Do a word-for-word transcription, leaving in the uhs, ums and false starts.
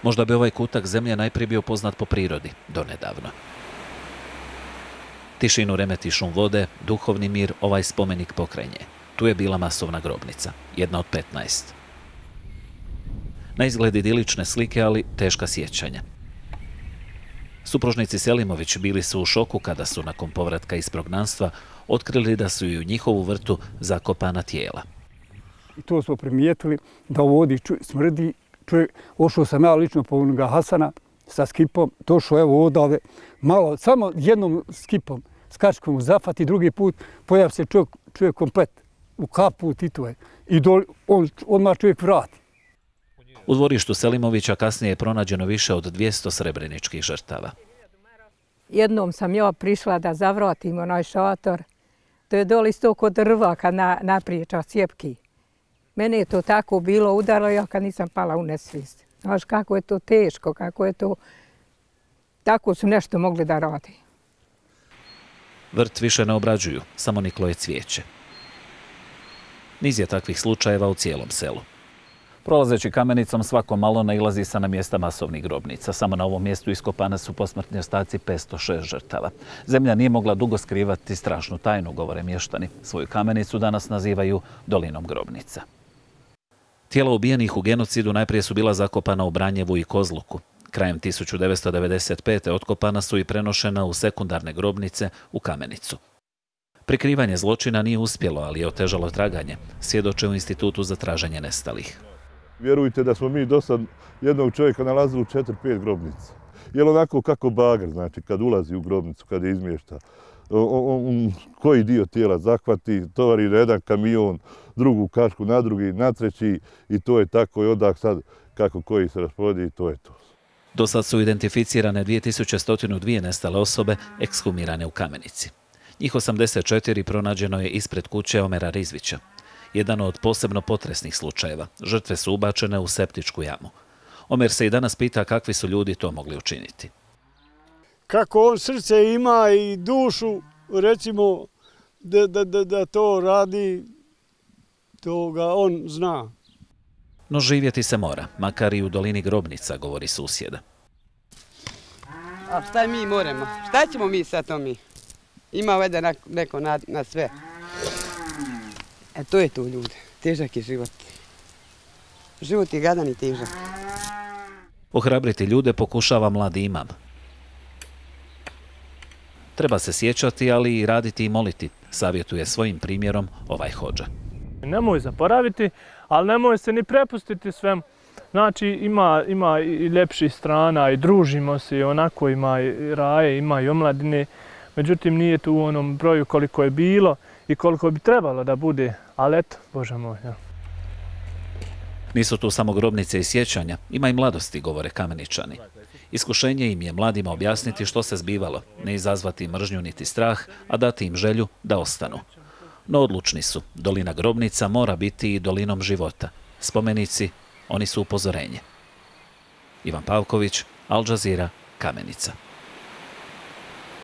Možda bi ovaj kutak zemlje najprije bio poznat po prirodi, donedavno. Tišinu remeti šum vode, duhovni mir ovaj spomenik pokrenje. Tu je bila masovna grobnica, jedna od petnaest. Na izgled idilične slike, ali teška sjećanja. Supružnici Selimović bili su u šoku kada su nakon povratka iz prognanstva otkrili da su i u njihovu vrtu zakopana tijela. I to smo primijetili da ovdje smrdi. Čovjek, ošao sam ja lično po onoga Hasana sa skipom, došao evo odave, malo, samo jednom skipom, skačkom u zafat i drugi put pojavi se čovjek, čovjek komplet u kaput i to je. I dol, on, odmah čovjek vrati. U dvorištu Selimovića kasnije je pronađeno više od dvjesto srebreničkih žrtava. Jednom sam ja prišla da zavratim onaj šator. To je doli isto kod drva kad na, napriječa sjepki. Mene je to tako bilo udarilo, ja kad nisam pala u nesvijest. Znaš kako je to teško, kako je to... Tako su nešto mogli da radi. Vrt više ne obrađuju, samo niklo je cvijeće. Niz je takvih slučajeva u cijelom selu. Prolazeći Kamenicom svako malo nailazi se na mjesta masovnih grobnica. Samo na ovom mjestu iskopane su posmrtni ostaci petsto šest žrtava. Zemlja nije mogla dugo skrivati strašnu tajnu, govore mještani. Svoju Kamenicu danas nazivaju dolinom grobnica. Tijela ubijenih u genocidu najprije su bila zakopana u Branjevu i Kozluku. Krajem tisuću devetsto devedeset pete otkopana su i prenošena u sekundarne grobnice u Kamenicu. Prikrivanje zločina nije uspjelo, ali je otežalo traganje, svjedoče u Institutu za traženje nestalih. Vjerujte da smo mi do sad jednog čovjeka nalazili u četiri pet grobnica. Jer onako kako bager, znači kad ulazi u grobnicu, kad je izmješta, on, on, koji dio tijela zahvati, tovari na jedan kamion, drugu kašku na drugi, na treći i to je tako i odak sad kako koji se rasporedi i to je to. Do sad su identificirane dvije tisuće sto dvije nestale osobe ekshumirane u Kamenici. Njih osamdeset četiri pronađeno je ispred kuće Omera Rizvića. Jedan od posebno potresnih slučajeva. Žrtve su ubačene u septičku jamu. Omer se i danas pita kakvi su ljudi to mogli učiniti. Kako on srce ima i dušu, recimo, da, da, da, da to radi, to ga on zna. No živjeti se mora, makar i u dolini grobnica, govori susjeda. A šta mi moramo? Šta ćemo mi sad to mi? Ima ovdje neko na, na sve. E to je to, ljudi. Težak je život. Život je gadan i težak. Ohrabriti ljude pokušava mladi imam. Treba se sjećati, ali i raditi i moliti, savjetuje svojim primjerom ovaj hodža. Nemoj zaboraviti, ali nemoj se ni prepustiti svemu. Znači ima, ima i ljepših strana i družimo se i onako ima i raje, ima i omladine. Međutim, nije tu u onom broju koliko je bilo i koliko bi trebalo da bude, ali eto, Bože moj. Ja. Nisu tu samo grobnice i sjećanja, ima i mladosti, govore Kameničani. Iskušenje im je mladima objasniti što se zbivalo, ne izazvati mržnju niti strah, a dati im želju da ostanu. No odlučni su, dolina grobnica mora biti i dolinom života. Spomenici, oni su upozorenje. Ivan Pavković, Al Jazeera, Kamenica.